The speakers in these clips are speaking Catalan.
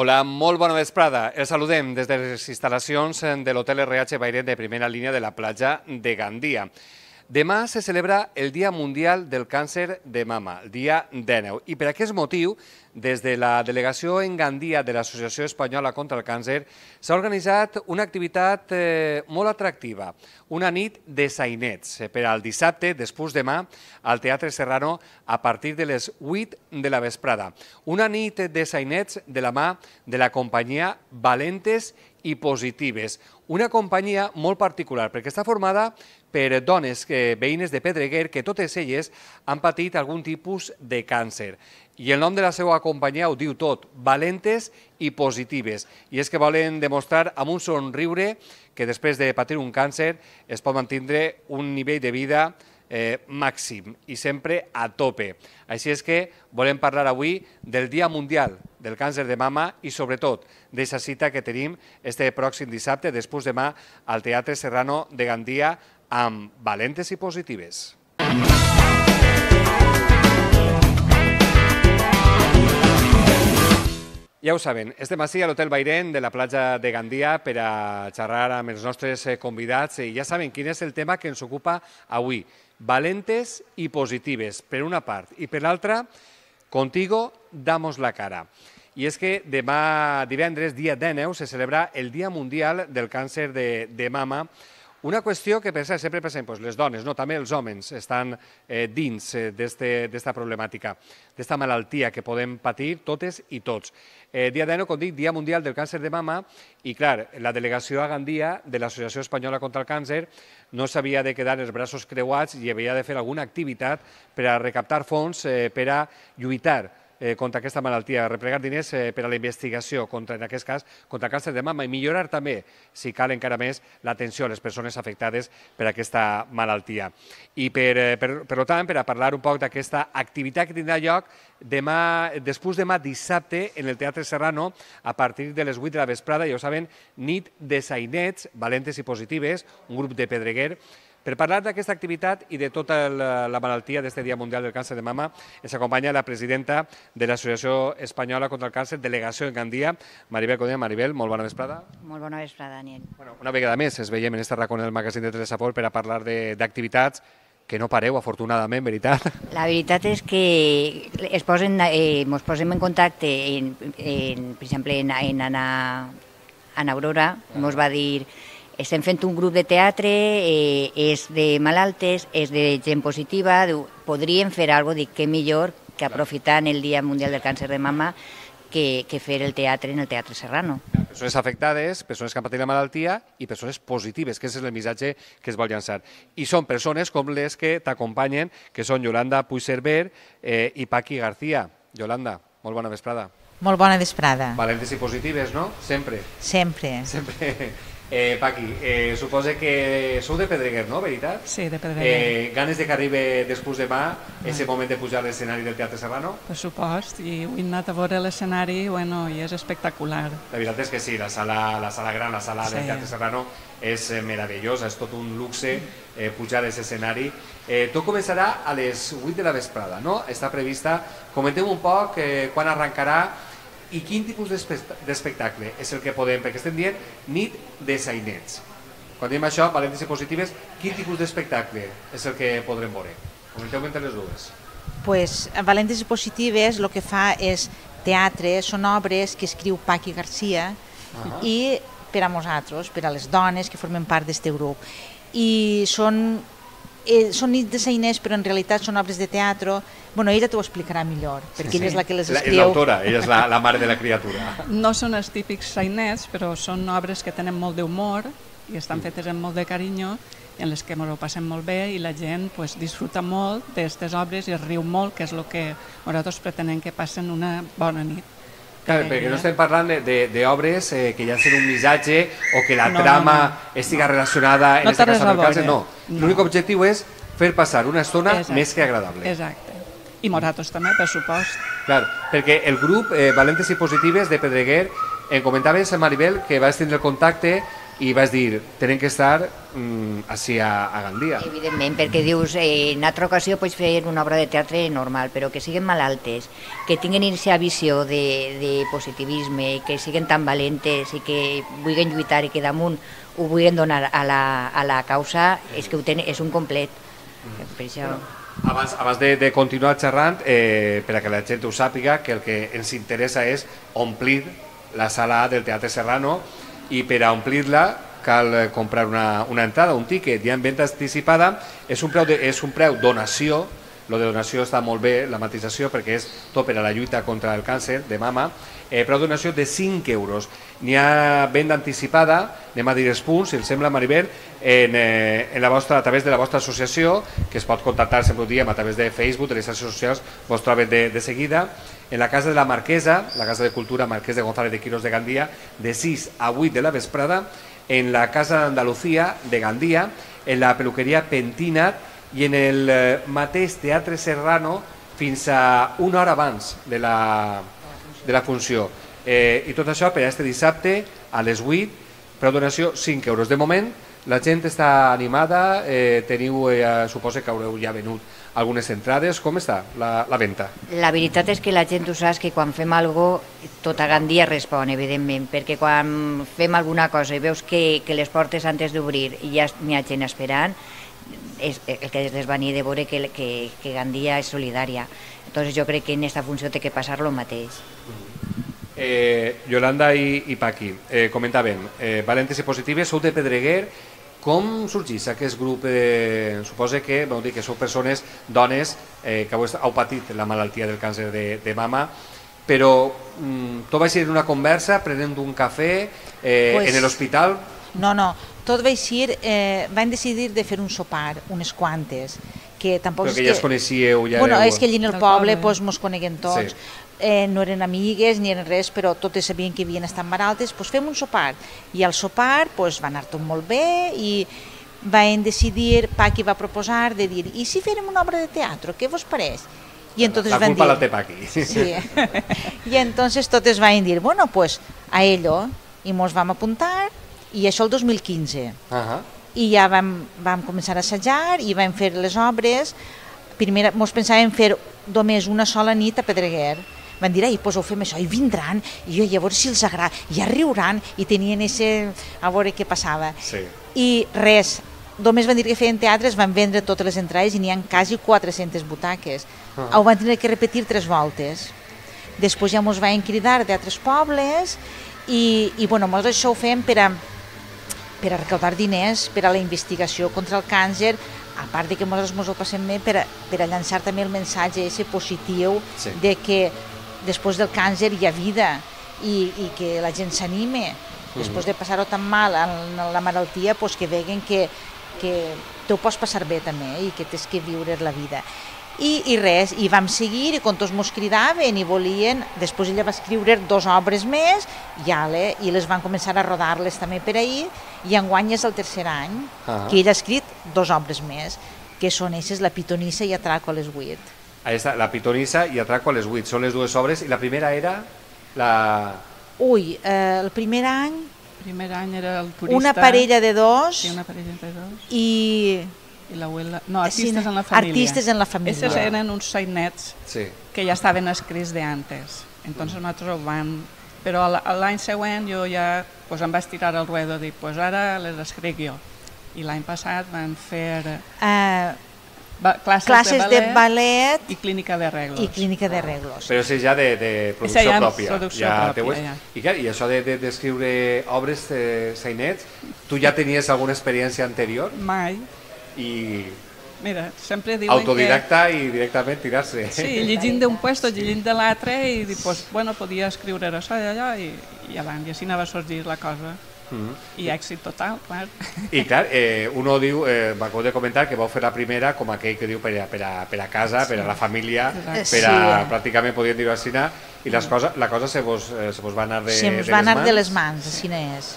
Hola, molt bona vesprada. Els saludem des de les instal·lacions de l'Hotel RH Bairet de primera línia de la platja de Gandia. Demà se celebra el Dia Mundial del Càncer de Mama, el dia 19. I per aquest motiu, des de la delegació en Gandia de l'Associació Espanyola contra el Càncer, s'ha organitzat una activitat molt atractiva, una nit de sainets per al dissabte, després demà, al Teatre Serrano, a partir de les 8 de la vesprada. Una nit de sainets de la mà de la companyia Valentes i Positives, una companyia molt particular, perquè està formada per dones veïnes de Pedreguer que totes elles han patit algun tipus de càncer. I el nom de la seva companyia ho diu tot, Valentes i Positives. I és que volen demostrar amb un somriure que després de patir un càncer es pot mantenir un nivell de vida màxim i sempre a tope. Així és que volem parlar avui del Dia Mundial del Càncer de Mama i sobretot d'aquesta cita que tenim este pròxim dissabte, després demà, al Teatre Serrano de Gandia amb Valentes i Positives. Ja ho saben, estem ací a l'Hotel Bairet de la platja de Gandia per a xerrar amb els nostres convidats i ja saben quin és el tema que ens ocupa avui. Valentes i Positives, per una part, i per l'altra, Contigo damos la cara. I és que demà divendres, dia 19, se celebra el Dia Mundial del Càncer de Mama, una qüestió que sempre pensem, les dones, també els homes estan dins d'esta problemàtica, d'esta malaltia que podem patir totes i tots. Dia 19, com dic, Dia Mundial del Càncer de Mama, i clar, la delegació a Gandia de l'Associació Espanyola contra el Càncer no s'havia de quedar els braços creuats i havia de fer alguna activitat per a recaptar fons per a lluitar contra aquesta malaltia, replegar diners per a la investigació, en aquest cas, contra el càncer de mama i millorar també, si cal encara més, l'atenció a les persones afectades per aquesta malaltia. I per tant, per a parlar un poc d'aquesta activitat que tindrà lloc després demà dissabte en el Teatre Serrano a partir de les 8 de la vesprada, ja ho saben, nit de sainets, Valentes i Positives, un grup de Pedreguer. Per parlar d'aquesta activitat i de tota la malaltia d'aquest Dia Mundial del Càncer de Mama, ens acompanya la presidenta de l'Associació Espanyola contra el Càncer, delegació en Gandia, Maribel Codina. Maribel, molt bona vesprada. Molt bona vesprada, Daniel. Una vegada més ens veiem en aquest racó en el magazín de Telesaport per a parlar d'activitats que no pareu, afortunadament, veritat? La veritat és que ens posem en contacte, per exemple, en Ana Aurora, ens va dir: estem fent un grup de teatre, és de malaltes, és de gent positiva, podríem fer alguna cosa, dic, què millor que aprofitant el Dia Mundial del Càncer de Mama que fer el teatre en el Teatre Serrano. Persones afectades, persones que han patit la malaltia i persones positives, que és el missatge que es vol llançar. I són persones com les que t'acompanyen, que són Yolanda Puigcerver i Paqui García. Yolanda, molt bona vesprada. Molt bona vesprada. Valentes i Positives, no? Sempre. Sempre. Sempre. Paqui, suposa que sou de Pedreguer, no? Veritat? Sí, de Pedreguer. Ganes de que arribi després demà, aquest moment de pujar a l'escenari del Teatre Serrano? Per supost, i he anat a veure l'escenari i és espectacular. La veritat és que sí, la sala gran, la sala del Teatre Serrano és meravellosa, és tot un luxe pujar a aquest escenari. Tot començarà a les 8 de la vesprada, no? Està prevista. Comenteu un poc quan arrencarà i quin tipus d'espectacle és el que podem, perquè estem dient nit de sainets. Quan diem això, Valentes i Positives, quin tipus d'espectacle és el que podrem veure? Comenteu-me entre les dues. Pues Valentes i Positives el que fa és teatre, són obres que escriu Paqui García i per a nosaltres, per a les dones que formen part d'aquest grup. I són nits de sainers, però en realitat són obres de teatre. Bueno, ella t'ho explicarà millor, perquè ella és la que les escriu. És l'autora, ella és la mare de la criatura. No són els típics sainets, però són obres que tenen molt d'humor i estan fetes amb molt de carinyo, en les que ens ho passem molt bé i la gent disfruta molt d'aquestes obres i es riu molt, que és el que nosaltres pretenem que passen una bona nit. Clar, perquè no estem parlant d'obres que llancen un missatge o que la trama estiga relacionada en aquest cas amb el càncer, no. L'únic objectiu és fer passar una estona més que agradable. Exacte. I nosaltres també, per supost. Clar, perquè el grup Valentes i Positives de Pedreguer, em comentaves, Maribel, que vas tindre el contacte i vas dir, tenen que estar així a Gandia. Evidentment, perquè dius, en altra ocasió pots fer una obra de teatre normal, però que siguin malaltes, que tinguin aquesta visió de positivisme, que siguin tan valentes i que vulguin lluitar i que damunt ho vulguin donar a la causa, és que és un complet. Per això... Abans de continuar xerrant, per a que la gent ho sàpiga, que el que ens interessa és omplir la sala del Teatre Serrano, i per a omplir-la cal comprar una entrada, un tiquet, i en venda anticipada és un preu donació. Lo de donació està molt bé, la matització, perquè és tot per a la lluita contra el càncer de mama, però donació de 5 euros. N'hi ha venda anticipada, anem a dir els punts, si els sembla, Maribel, a través de la vostra associació, que es pot contactar, sempre ho diem, a través de Facebook, de les xarxes socials, vos troben de seguida, en la Casa de la Marquesa, la Casa de Cultura Marquès de González de Quirós de Gandia, de 6 a 8 de la vesprada, en la Casa d'Andalucía de Gandia, en la Peluqueria Pentinat, i en el mateix Teatre Serrano fins a una hora abans de la funció. I tot això per a este dissabte a les 8, per donació 5 euros. De moment la gent està animada, teniu, suposo que haureu ja venut algunes entrades. Com està la venda? La veritat és que la gent ho saps que quan fem alguna cosa, tota Gandia respon, evidentment, perquè quan fem alguna cosa i veus que les portes antes d'obrir i ja n'hi ha gent esperant, és el que es venia de veure que Gandia és solidària. Entonces jo crec que en aquesta funció té que passar lo mateix. Yolanda i Paqui, comentaven, valentes i positives, sou de Pedreguer. Com sorgís aquest grup? Suposo que sou persones, dones, que heu patit la malaltia del càncer de mama, però tot va ser una conversa, prenent un cafè en l'hospital? No, tot va ser, van decidir de fer un sopar, unes quantes, que tampoc... Però que ja es coneixíeu... Bueno, és que allí en el poble mos coneguem tots, no eren amigues ni eren res, però totes sabien que havien estat malaltes, doncs fem un sopar. I al sopar va anar tot molt bé i van decidir, Paqui va proposar de dir, i si fèrem una obra de teatre, què vos pareix? La culpa la té Paqui. Sí. I entonces totes van dir, bueno, pues a ello, i mos vam apuntar, i això el 2015. I ja vam començar a assajar i vam fer les obres. Primer mos pensàvem fer només una sola nit a Pedreguer. Van dir, doncs ho fem això, i vindran, i jo, a veure si els agrada, ja riuran, i tenien a veure què passava. I res, només van dir que feien teatres, van vendre totes les entrades i n'hi ha quasi 400 butaques. Ho van tenir que repetir 3 voltes. Després ja mos van cridar d'altres pobles i bueno, nosaltres això ho fem per a recaudar diners per a la investigació contra el càncer, a part de que nosaltres ens ho passem bé per a llançar també el missatge positiu de que després del càncer hi ha vida i que la gent s'anime. Després de passar-ho tan mal en la malaltia, que veguen que te ho pots passar bé també i que tens que viure la vida. I res, i vam seguir, i quan tots mos cridaven i volien, després ella va escriure 2 obres més, i les van començar a rodar-les també per ahir, i enguany és el 3è any que ella ha escrit 2 obres més, que són eixes, La pitonissa i Atraco a les 8. La pitonissa i Atraco a les 8, són les 2 obres, i la primera era la... El primer any... El primer any era el turista... Una parella de 2... Sí, una parella de 2. I l'abuela... No, Artistes en la família. Artistes en la família. Estos eren uns sainets que ja estaven escrits d'antes. Entonces nosaltres ho vam... Però l'any següent jo ja em vaig tirar al ruedo i dic, ara les escric jo. I l'any passat vam fer classes de ballet i clínica d'arreglos. Però és ja de producció pròpia. Ja. I això d'escriure obres sainets, tu ja tenies alguna experiència anterior? Mai. I mira, sempre diuen autodidacta i directament tirar-se. Sí, llegint d'un puesto, llegint de l'altre i podia escriure això i allò i avant, i així anava a sorgir la cosa. I èxit total, clar. I clar, uno diu, m'acabo de comentar que vau fer la primera com aquell que diu per a casa, per a la família, per a pràcticament podríem dir-ho així, i la cosa se vos va anar de les mans. Se mos va anar de les mans, així és.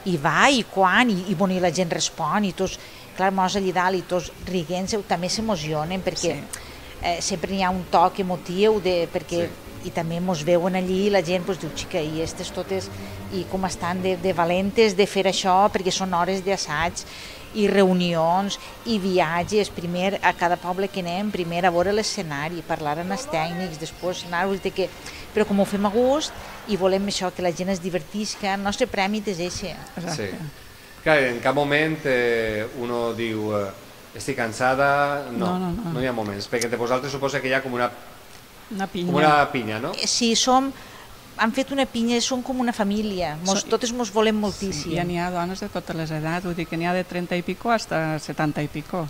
I va, i quan, i la gent respon, i tots, clar, mos allà dalt, i tots riguent, també s'emocionen, perquè sempre hi ha un toc emotiu, perquè i també mos veuen allí i la gent diu, xica, i aquestes totes, i com estan de valentes de fer això, perquè són hores d'assaig i reunions i viatges, primer a cada poble que anem, primer a veure l'escenari, parlar amb els tècnics, després anar-vos que... Però com ho fem a gust i volem això, que la gent es divertisca, el nostre premi és eixe. Sí. Clar, en cap moment uno diu estic cansada, no hi ha moments, perquè de vosaltres suposa que hi ha com una pinya, no? Sí, han fet una pinya, són com una família, totes ens volem moltíssim. Sí, i n'hi ha dones de totes les edats, vull dir que n'hi ha de 30 i pico fins a 70 i pico,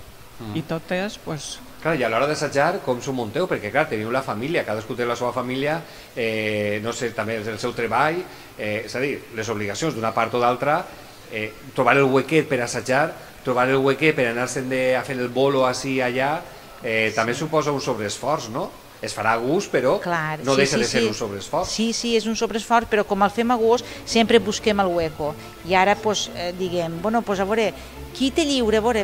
i totes, doncs... Clar, i a l'hora d'assajar, com s'ho munteu? Perquè, clar, teniu la família, cadascú té la seva família, no sé, també el seu treball, és a dir, les obligacions d'una part o d'altra, trobar el huequet per assajar, trobar el huequet per anar-se'n a fer el bolo així allà, també suposa un sobreesforç, no? Es farà a gust, però no deixa de ser un sobreesforç. Sí, és un sobreesforç, però com el fem a gust, sempre busquem el hueco. I ara, diguem, a veure, qui té lliure? A veure,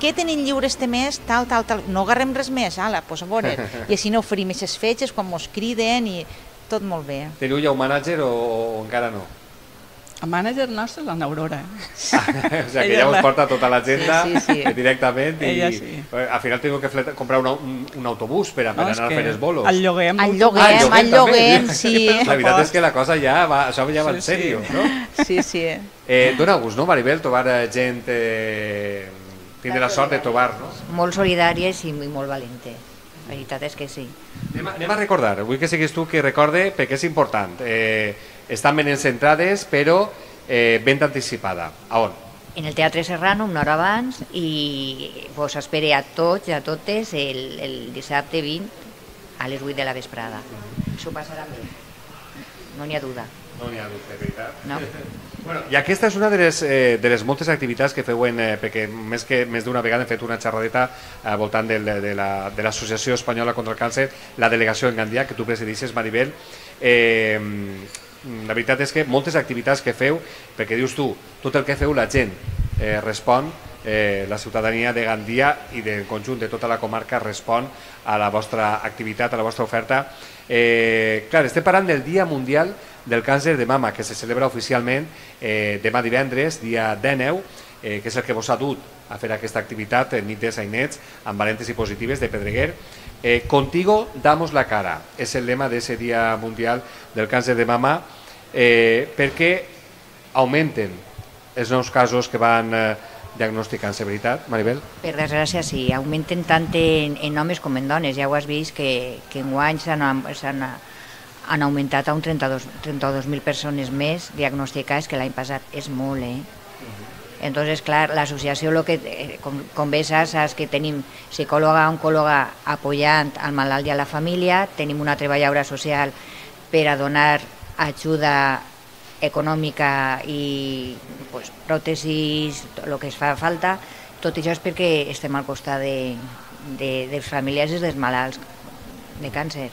què tenim lliure este mes? Tal. No agarrem res més, a veure. I així no oferim aquestes fetges quan ens criden i tot molt bé. Teniu ja un mànager o encara no? El mànager nostre és l'Aurora. O sigui, que ja us porta tota l'agenda directament i al final teniu que comprar un autobús per anar a fer els bolos. El lloguem. El lloguem, sí. La veritat és que la cosa ja va, això ja va en sèrio, no? Sí. Dóna gust, no, Maribel, trobar gent, tindre la sort de trobar-nos. Molt solidàries i molt valentes. La veritat és que sí. Anem a recordar, vull que siguis tu qui recorde perquè és important. Estan ben encentrades, però ben anticipada. A on? En el Teatre Serrano, una hora abans, i vos espere a tots i a totes el dissabte 20 a les 8 de la vesprada. S'ho passarà bé. No n'hi ha dubte. No n'hi ha dubte, de veritat. No. Bueno, i aquesta és una de les moltes activitats que feu, perquè més d'una vegada hem fet una xerradeta al voltant de l'Associació Espanyola contra el Càncer, la delegació en Gandia, que tu presidixes, Maribel. La veritat és que moltes activitats que feu, perquè dius tu, tot el que feu la gent respon, la ciutadania de Gandia i del conjunt de tota la comarca respon a la vostra activitat, a la vostra oferta. Clar, estem parlant del Dia Mundial del Càncer de Mama, que se celebra oficialment demà divendres, dia 19, que és el que vos ha dut a fer aquesta activitat, nit de sainets, amb valentes i positives de Pedreguer. Contigo damos la cara, és el lema d'aquest Dia Mundial del Càncer de Mama, perquè augmenten els nous casos que van diagnosticant-se, veritat, Maribel? Per desgràcia sí, augmenten tant en homes com en dones. Ja ho has vist que enguany han augmentat a un 32.000 persones més diagnosticades que l'any passat. És molt, Entonces, clar, l'associació, com bé saps que tenim psicòloga, oncòloga apoyant al malalt i a la família, tenim una treballadora social per a donar ajuda econòmica i pròtesis, el que es fa falta. Tot això és perquè estem al costat dels familiars i dels malalts de càncer.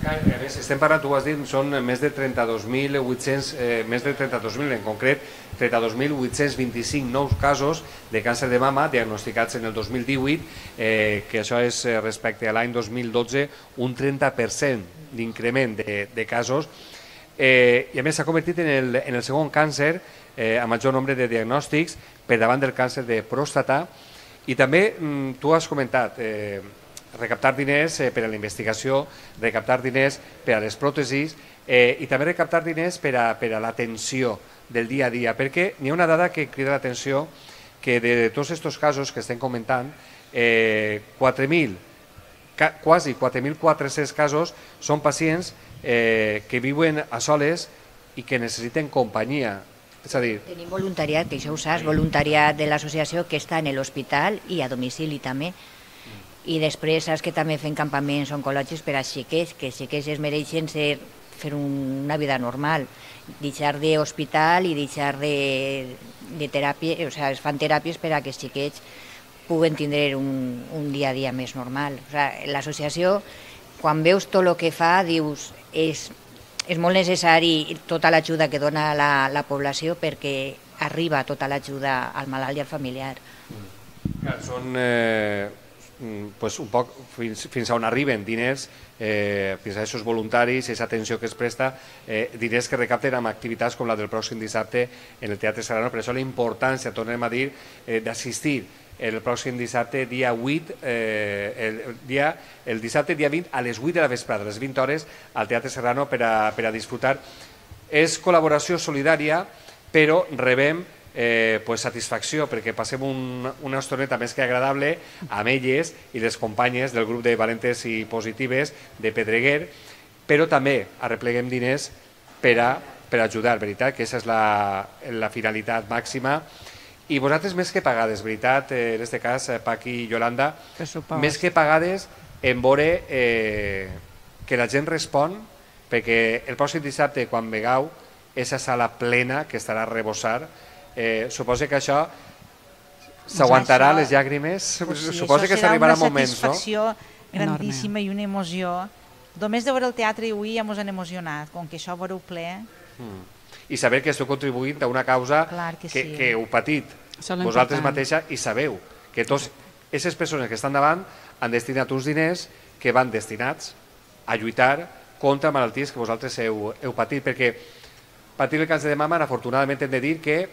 A més, estem parlant, tu ho has dit, són més de 32.800, més de 32.000 en concret, 32.825 nous casos de càncer de mama diagnosticats en el 2018, que això és respecte a l'any 2012 un 30% d'increment de casos, i a més s'ha convertit en el segon càncer a major nombre de diagnòstics per davant del càncer de pròstata. I també tu has comentat recaptar diners per a la investigació, recaptar diners per a les pròtesis i també recaptar diners per a l'atenció del dia a dia, perquè n'hi ha una dada que crida l'atenció, que de tots aquests casos que estem comentant, quasi 4.400 casos són pacients que viuen a soles i que necessiten companyia. És a dir... Tenim voluntariat, que això ho saps, voluntariat de l'associació que està en l'hospital i a domicili també. I després saps que també fem campaments oncològics per als xiquets, que els xiquets es mereixen fer una vida normal, deixar d'hospital i deixar de teràpia, o sigui, es fan teràpies per a que els xiquets puguen tindre un dia a dia més normal. O sigui, l'associació, quan veus tot el que fa, dius, és molt necessari tota l'ajuda que dona la població perquè arriba tota l'ajuda al malalt i al familiar. Són pues, un poc fins on arriben diners, fins a aquests voluntaris, aquesta atenció que es presta, diners que recapten amb activitats com la del pròxim dissabte en el Teatre Serrano. Per això la importància, tornem a dir, d'assistir el pròxim dissabte, dia 8, el dissabte dia 20 a les 8 de la vesprada, a les 20 hores, al Teatre Serrano per a disfrutar. És col·laboració solidària, però rebem satisfacció perquè passem una estoneta més que agradable amb elles i les companyes del grup de Valentes i Positives de Pedreguer, però també arrepleguem diners per ajudar, veritat, que aquesta és la finalitat màxima. I vosaltres més que pagades, veritat, en aquest cas, Paqui i Yolanda, més que pagades en veure que la gent respon, perquè el pròxim dissabte, quan vegeu aquesta sala plena que estarà a rebossar, suposo que això s'aguantarà les llàgrimes, suposo que s'arribarà moments, no? Serà una satisfacció grandíssima i una emoció. Només de veure el teatre avui ja ens han emocionat, com que això ho veureu ple. I saber que esteu contribuint a una causa que heu patit vosaltres mateixa i sabeu que totes aquestes persones que estan davant han destinat uns diners que van destinats a lluitar contra malalties que vosaltres heu patit, perquè patir el càncer de mama, afortunadament hem de dir que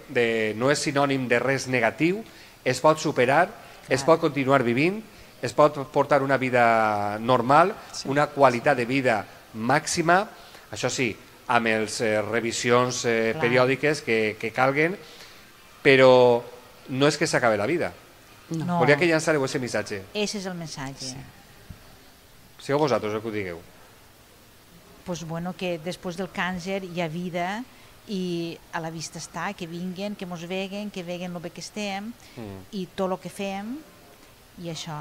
no és sinònim de res negatiu, es pot superar, es pot continuar vivint, es pot portar una vida normal, una qualitat de vida màxima, això sí, amb les revisions periòdiques que calguen, però no és que s'acabi la vida. Volia que llançareu aquest missatge. Ese és el missatge. Sigueu vosaltres el que ho digueu. Pues bueno, que després del càncer hi ha vida i a la vista està, que vinguen, que mos veguen, que veguen el bé que estem i tot el que fem i això.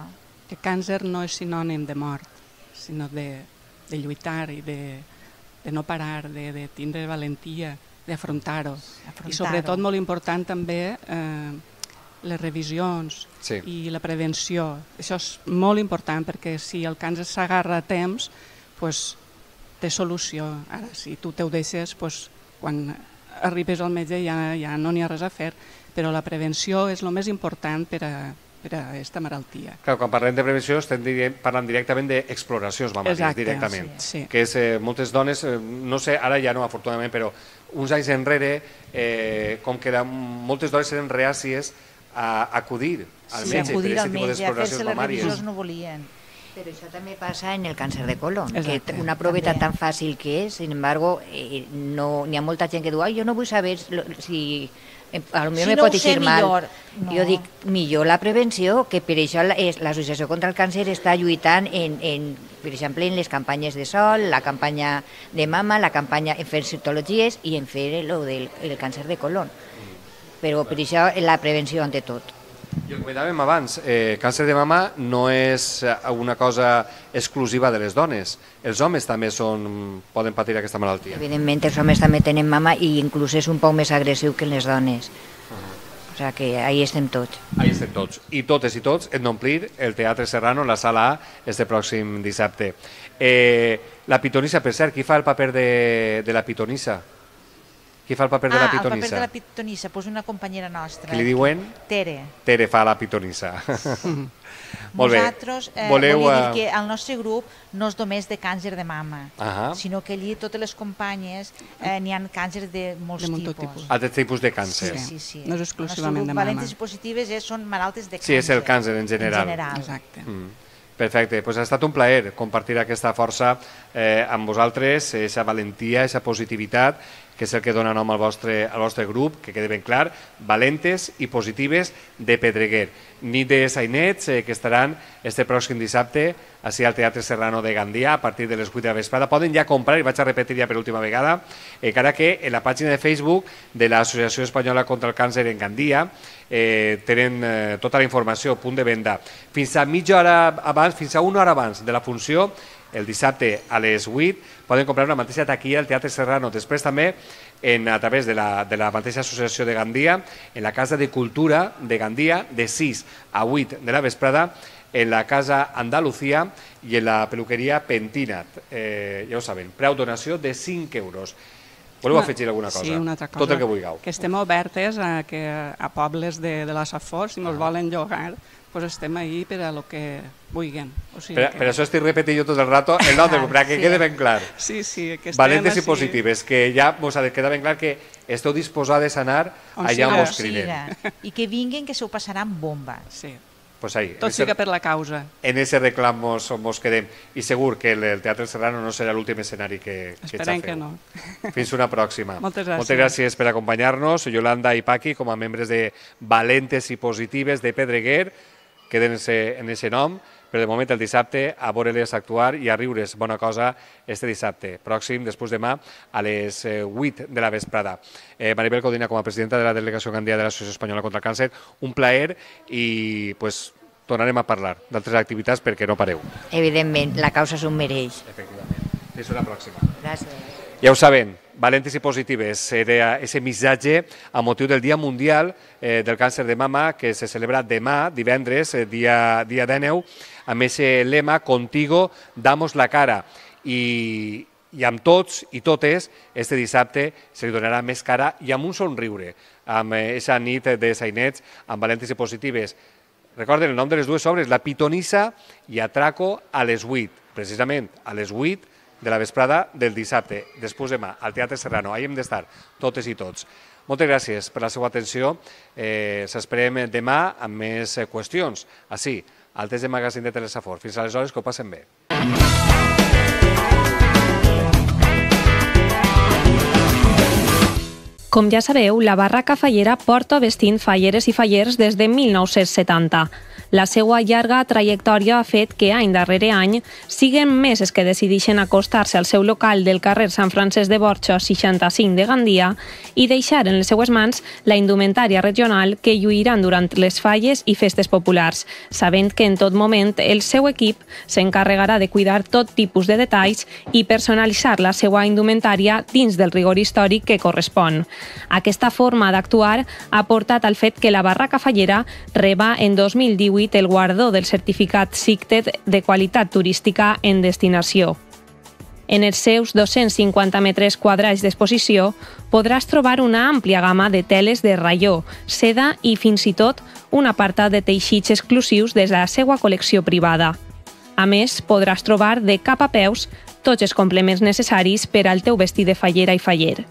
Que càncer no és sinònim de mort, sinó de lluitar i de no parar, de tindre valentia, d'afrontar-ho. I sobretot molt important també les revisions i la prevenció. Això és molt important perquè si el càncer s'agarra a temps, doncs té solució. Ara, si tu te ho deixes, quan arribes al metge ja no n'hi ha res a fer, però la prevenció és el més important per a aquesta malaltia. Clar, quan parlem de prevenció estem parlant directament d'exploracions mamàries, directament. Que és moltes dones, no sé, ara ja no, afortunadament, però uns anys enrere, com que moltes dones eren reàcies a acudir al metge per aquest tipus d'exploracions mamàries. Les revisions no volien. Pero eso también pasa en el cáncer de colon, que una prueba tan fácil que es, sin embargo, no n'hi ha molta gent que diu, jo no vull saber si a lo millor me pot dir mal. Jo dic, millor la prevenció, que per això l'Associació contra el Càncer està lluitant, per exemple, en les campanyes de sol, la campanya de mama, la campanya en fer citologies i en fer el càncer de colon. Però per això la prevenció ante tot. I ho comentàvem abans, càncer de mama no és una cosa exclusiva de les dones. Els homes també poden patir aquesta malaltia. Evidentment, els homes també tenen mama i inclús és un poc més agressiu que les dones. O sigui que ahí estem tots. Ahí estem tots. I totes i tots hem d'omplir el Teatre Serrano, la sala A, este pròxim dissabte. La pitonissa, per cert, qui fa el paper de la pitonissa? Qui fa el paper de la pitonissa? El paper de la pitonissa, doncs una companyera nostra. Qui li diuen? Tere. Tere fa la pitonissa. Molt bé. Nosaltres volia dir que el nostre grup no és només de càncer de mama, sinó que allí totes les companyes n'hi ha càncer de molts tipus. Altres tipus de càncer. Sí. No és exclusivament de mama. Valentes i positives són malaltes de càncer. Sí, és el càncer en general. Exacte. Perfecte, doncs ha estat un plaer compartir aquesta força amb vosaltres, aquesta valentia, aquesta positivitat, que és el que dona nom al vostre grup, que quede ben clar, Valentes i Positives de Pedreguer. Nit de sainets que estaran este pròxim dissabte així al Teatre Serrano de Gandia a partir de les 8 de la vesprada. Poden ja comprar, i vaig a repetir ja per última vegada, encara que en la pàgina de Facebook de l'Associació Espanyola contra el Càncer en Gandia tenen tota la informació a punt de venda. Fins a mitja hora abans, fins a una hora abans de la funció, el dissabte a les 8, poden comprar una mateixa taquilla al Teatre Serrano. Després també, a través de la mateixa associació de Gandia, en la Casa de Cultura de Gandia, de 6 a 8 de la vesprada, en la Casa Andalucía i en la peluqueria Pentinat. Ja ho saben, preu donació de 5 euros. Voleu afegir alguna cosa? Sí, una altra cosa. Tot el que vulgueu. Que estem obertes a pobles de la Safor, si ens volen llogar, pues estem ahí per a lo que vulguin. Per això estic repetint jo tot el rato el nom del grup, perquè quede ben clar. Sí, que Valentes i positives, que ja mos ha de quedar ben clar que esteu disposades a anar allà on mos criden. I que vinguin, que s'ho passaran bomba. Sí. Pues ahí, tot siga per la causa. En ese reclam mos quedem. I segur que el Teatre Serrano no serà l'últim escenari que Esperem que no. Fins una pròxima. Moltes gràcies. Moltes gràcies per acompanyar-nos. Yolanda i Paqui, com a membres de Valentes i Positives de Pedreguer, queden en aquest nom, però de moment el dissabte a veure-les actuar i a riure's bona cosa este dissabte, pròxim, després demà, a les 8 de la vesprada. Maribel Codina, com a presidenta de la Delegació Gandia de l'Associació Espanyola contra el Càncer, un plaer i tornarem a parlar d'altres activitats perquè no pareu. Evidentment, la causa s'ho mereix. Efectivament. Fins una pròxima. Gràcies. Ja ho saben, Valentes i Positives, era aquest missatge a motiu del Dia Mundial del Càncer de Mama, que se celebra demà, divendres, dia 19, amb aquest lema Contigo damos la cara. I amb tots i totes, este dissabte se li donarà més cara i amb un somriure, amb aquesta nit de sainets, amb Valentes i Positives. Recorden el nom de les dues obres, La Pitonissa i Atraco a les 8, precisament a les 8 de la vesprada del dissabte, després demà, al Teatre Serrano. Ahí hem d'estar, totes i tots. Moltes gràcies per la seva atenció. S'esperem demà amb més qüestions. Així, al test de magazín de Telesafor. Fins aleshores, que ho passen bé. Com ja sabeu, la Barraca Fallera porta vestint falleres i fallers des de 1970. La seva llarga trajectòria ha fet que any darrere any siguen més els que decideixen acostar-se al seu local del carrer Sant Francesc de Borja 65 de Gandia i deixar en les seues mans la indumentària regional que lluiran durant les falles i festes populars, sabent que en tot moment el seu equip s'encarregarà de cuidar tot tipus de detalls i personalitzar la seva indumentària dins del rigor històric que correspon. Aquesta forma d'actuar ha portat al fet que la Barraca Fallera reba en 2018 el guardó del certificat SICTED de qualitat turística en destinació. En els seus 250 metres quadrats d'exposició podràs trobar una àmplia gamma de teles de raió, seda i fins i tot un apartat de teixits exclusius des de la seva col·lecció privada. A més, podràs trobar de cap a peus tots els complements necessaris per al teu vestit de fallera i faller.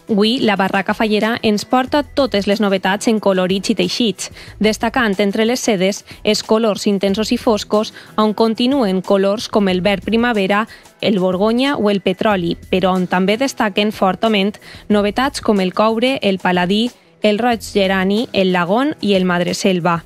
Avui, la Barraca Fallera ens porta totes les novetats en colorits i teixits, destacant entre les sedes els colors intensos i foscos, on continuen colors com el verd primavera, el borgonya o el petroli, però on també destaquen fortament novetats com el coure, el paladí, el roig gerani, el lagón i el madreselva.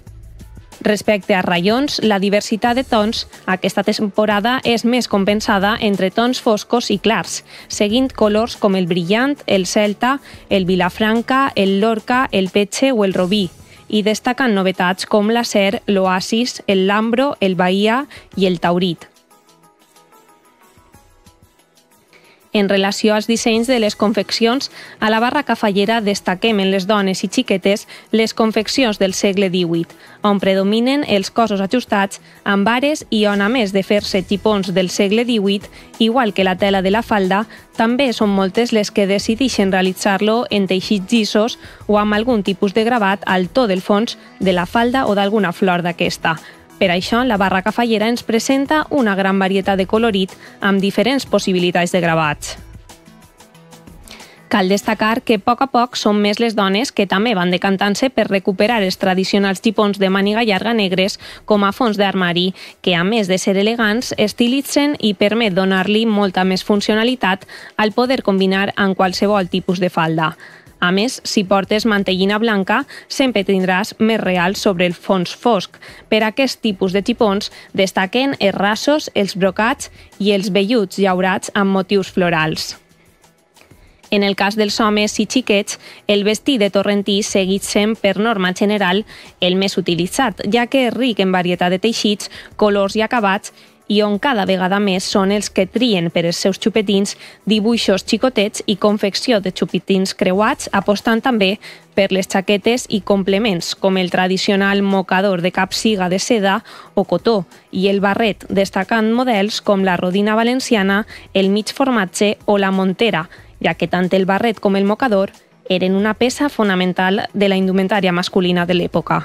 Respecte a raions, la diversitat de tons aquesta temporada és més compensada entre tons foscos i clars, seguint colors com el brillant, el celta, el vilafranca, el lorca, el petxe o el robí, i destacant novetats com l'acer, l'oasis, el lambro, el bahia i el taurit. En relació als dissenys de les confeccions, a la Barraca Fallera destaquem en les dones i xiquetes les confeccions del segle XVIII, on predominen els cossos ajustats amb ares i on, a més de fer-se tipons del segle XVIII, igual que la tela de la falda, també són moltes les que decideixen realitzar-lo en teixits llisos o amb algun tipus de gravat al to del fons de la falda o d'alguna flor d'aquesta. Per això, la Barraca Fallera ens presenta una gran varietat de colorit amb diferents possibilitats de gravats. Cal destacar que a poc són més les dones que també van decantant-se per recuperar els tradicionals xipons de màniga llarga negres com a fons d'armari, que a més de ser elegants, estilitzen i permet donar-li molta més funcionalitat al poder combinar amb qualsevol tipus de falda. A més, si portes mantellina blanca, sempre tindràs més real sobre el fons fosc. Per aquest tipus de xipons destaquen els rasos, els brocats i els velluts llaurats amb motius florals. En el cas dels homes i xiquets, el vestit de torrentí seguit sent, per norma general, el més utilitzat, ja que és ric en varietat de teixits, colors i acabats, i on cada vegada més són els que trien per als seus xupetins dibuixos xicotets i confecció de xupetins creuats, apostant també per les xaquetes i complements, com el tradicional mocador de capsiga de seda o cotó, i el barret, destacant models com la rodina valenciana, el mig formatge o la montera, ja que tant el barret com el mocador eren una peça fonamental de la indumentària masculina de l'època.